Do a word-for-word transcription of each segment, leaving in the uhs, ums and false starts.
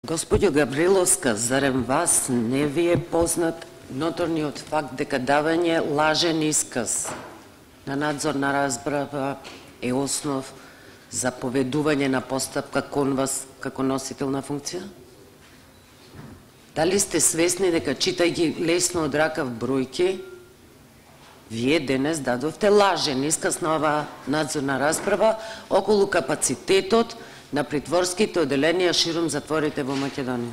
Господјо Гавриловска, зарем вас не ви е познат ноторниот факт дека давање лажен исказ на надзорна расправа е основ за поведување на постапка кон вас како носител на функција? Дали сте свесни дека читајќи лесно од ракав бројки, вие денес дадовте лажен исказ на оваа надзорна расправа околу капацитетот на притворските оделенија ширум затворите во Македонија?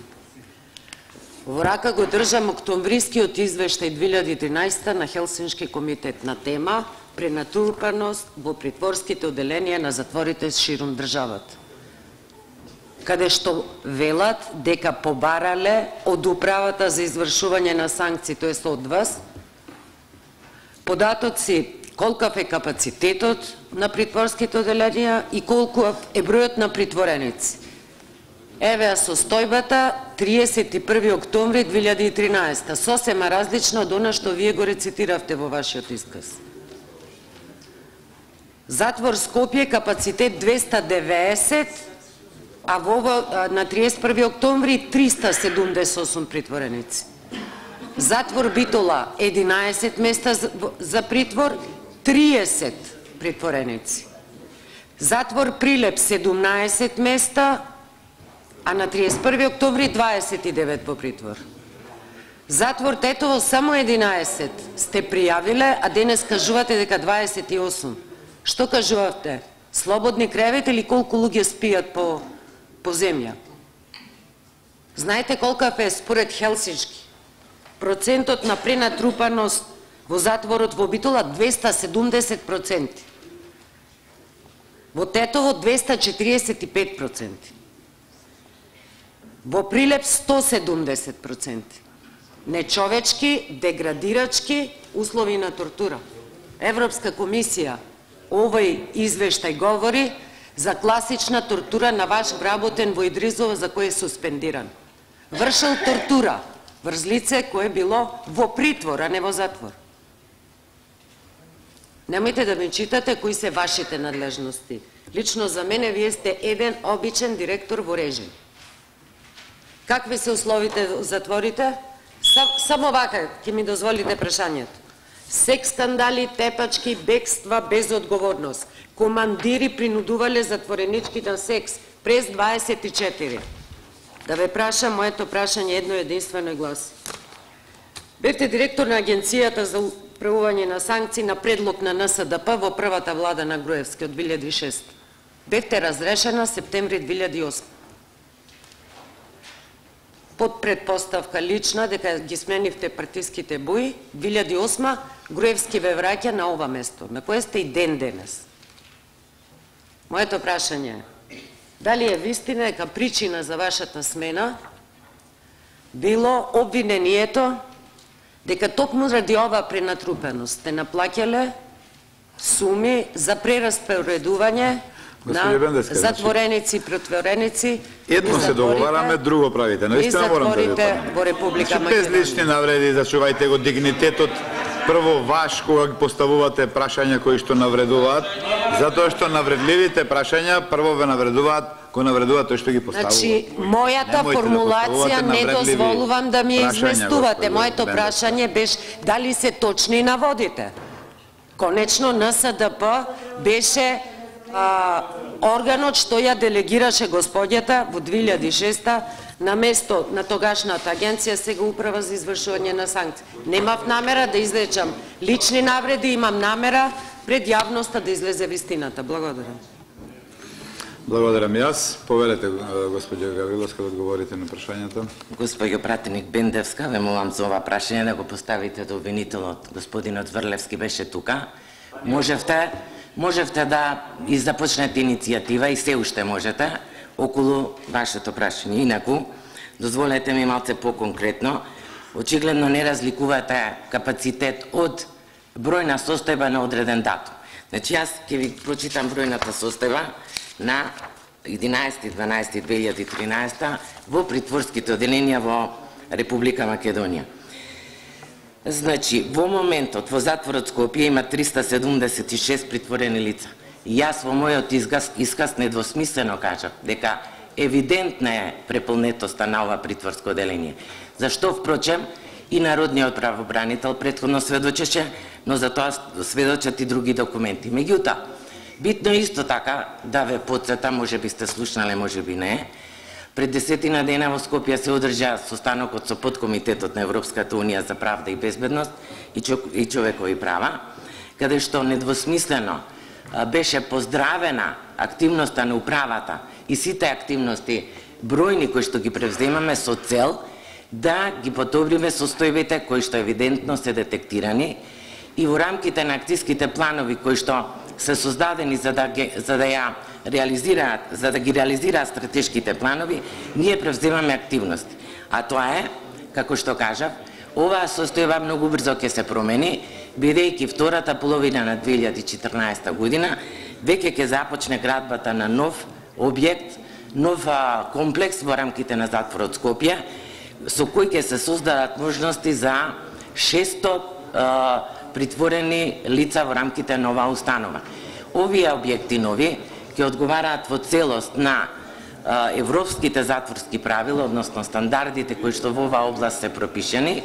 Во рака го држам октомврискиот извештај две илјади и тринаесетта на Хелсиншки комитет на тема пренатрупаност во притворските оделенија на затворите ширум државата, каде што велат дека побарале од управата за извршување на санкции, тоест од вас, податоци колкав е капацитетот на притворските оделенија и колку е бројот на притвореници. Еве ја состојбата триесет и први октомври две илјади и тринаесетта, сосема различна од она што вие го рецитиравте во вашиот исказ. Затвор Скопје капацитет двеста деветдесет, а во на триесет и први октомври триста седумдесет и осум притвореници. Затвор Битола единаесет места за притвор, триесет притвореници. Затвор Прилеп седумнаесет места, а на триесет и први октомври дваесет и девет во притвор. Затвор Тетово само единаесет сте пријавиле, а денес кажувате дека дваесет и осум. Што кажувате? Слободни кревети или колку луѓе спијат по, по земја? Знаете колкав е според Хелсиншки процентот на пренатрупаност во затворот во Битола? двеста седумдесет проценти. Во Тетово двеста четириесет и пет проценти. Во Прилеп сто седумдесет проценти. Нечовечки, деградирачки услови на тортура. Европска комисија овој извештај говори за класична тортура на ваш вработен во Идризово, за кој е суспендиран. Вршил тортура врз лице кое било во притвор, а не во затвор. Немојте да ми читате кои се вашите надлежности. Лично за мене вие сте еден обичен директор во режим. Какви се условите во затворите? Сам, само вака ќе ми дозволите прашањето. Секс скандали, тепачки, бегства без одговорност. Командири принудувале затворенички на секс през дваесет и четири. Да ве прашам, моето прашање едно единствено и гласи. Бевте директор на Агенцијата за управување на санкции на предлог на Н С Д П во првата влада на Груевски од две илјади и шеста. Бевте разрешена септември две илјади и осма. Под предпоставка лична дека ги сменивте партиските бои, две илјади и осма Груевски ве враќа на ова место, на кое сте и ден денес. Моето прашање е, дали е вистина дека причина за вашата смена било обвинението дека токму заради оваа пренатрупаност сте наплаќале суми за прераспоредување на затвореници и претвореници. Едно се договараме, друго правите. Наистина морам да ви во Република Македонија. Без лични навреди, зачувајте го дигнитетот. Прво ваш, кога ги поставувате прашања кои што навредуваат, затоа што навредливите прашања прво ве навредуваат, кои навредуваат тој што ги поставува. Значи, мојата формулација не дозволувам да ми ја изместувате. Моето прашање беше дали се точни наводите. Конечно, Н С Д П беше а, органот што ја делегираше господјата во две илјади и шеста на место на тогашната агенција, сега управа за извршување на санкции. Немав намера да излечам лични навреди, имам намера пред јавноста да излезе вистината. Благодарам. Благодарам јас. Повелете, господја Гавриловска, да одговорите на прашањата. Госпоѓо пратеник Бендевска, ве молам за ова прашање да го поставите до обвинителот. Господинот Врлевски беше тука. Можевте, можевте да и започнете иницијатива и се уште можете околу вашето прашање. Инаку, дозволете ми малце по-конкретно, очигледно не разликувате капацитет од бројна состојба на одреден датум. Значи, јас ќе ви прочитам бројната состојба на единаесети дванаесети две илјади и тринаесетта во притворските оделенија во Република Македонија. Значи, во моментот во затворот Скопје има триста седумдесет и шест притворени лица. И јас во мојот изказ, изказ недвосмислено кажав дека евидентна е преполнетоста на ова притворско оделение. Зашто, впрочем, и народниот правобранител претходно сведочеше, но за тоа сведочат и други документи. Меѓутоа, битно исто така да ве подсета, може би сте слушнале, може би не, пред десетина дена во Скопје се одржа состанокот со подкомитетот на Европската Унија за правда и безбедност и човекови права, каде што недвосмислено беше поздравена активноста на управата и сите активности бројни кои што ги превземаме со цел да ги подобриме состојбите кои што евидентно се детектирани и во рамките на акцијските планови кои што се создадени за да, ги, за да ја реализираат, за да ги реализираат стратешките планови, ние превземаме активности. А тоа е, како што кажав, оваа состојба многу брзо ќе се промени, бидејќи втората половина на две илјади и четрнаесета година веќе ќе започне градбата на нов објект, нов комплекс во рамките на затворот Скопје, со кој ќе се создадат можности за шестsto а, притворени лица во рамките на оваа установа. Овие објекти нови ќе одговараат во целост на а, европските затворски правила, односно стандардите кои што во оваа област се пропишени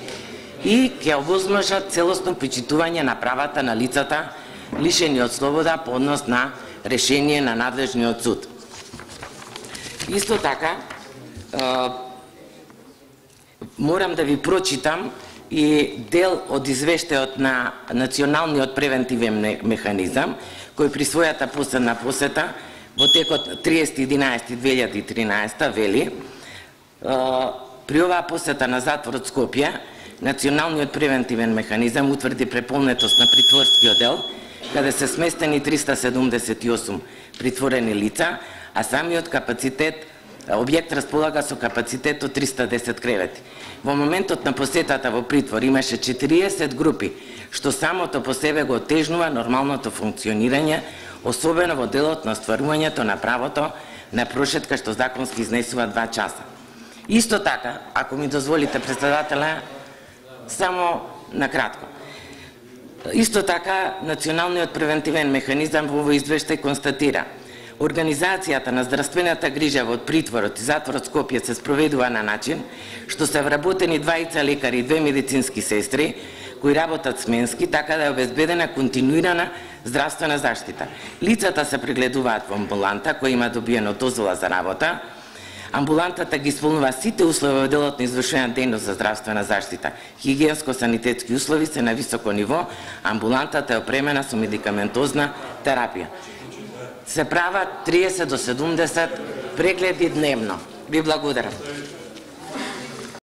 и ќе овозможат целосно почитување на правата на лицата лишени од слобода по однос на решение на надлежниот суд. Исто така, а, морам да ви прочитам и дел од извештајот на Националниот превентивен механизам, кој при својата последна посета во текот триесети единаесети две илјади и тринаесета вели: при оваа посета на затворот Скопје, Националниот превентивен механизам утврди преполнетост на притворскиот дел, каде се сместени триста седумдесет и осум притворени лица, а самиот капацитет објект располага со капацитет од триста десет кревети. Во моментот на посетата во притвор имаше четириесет групи, што самото по себе го отежнува нормалното функционирање, особено во делот на остварувањето на правото на прошетка што законски изнесува два часа. Исто така, ако ми дозволите, председателя, само накратко. Исто така, Националниот превентивен механизам во овој извештај констатира: организацијата на здравствената грижа во притворот и затворот Скопје се спроведува на начин што се вработени двајца лекари и две медицински сестри кои работат сменски, така да е обезбедена континуирана здравствена заштита. Лицата се прегледуваат во амбуланта која има добиено дозвола за работа. Амбулантата ги исполнува сите услови во делот на извршена дејност за здравствена заштита. Хигиенско-санитетски услови се на високо ниво, амбулантата е опремена со медикаментозна терапија. Се прават триесет до седумдесет прегледи дневно. Ви благодарам.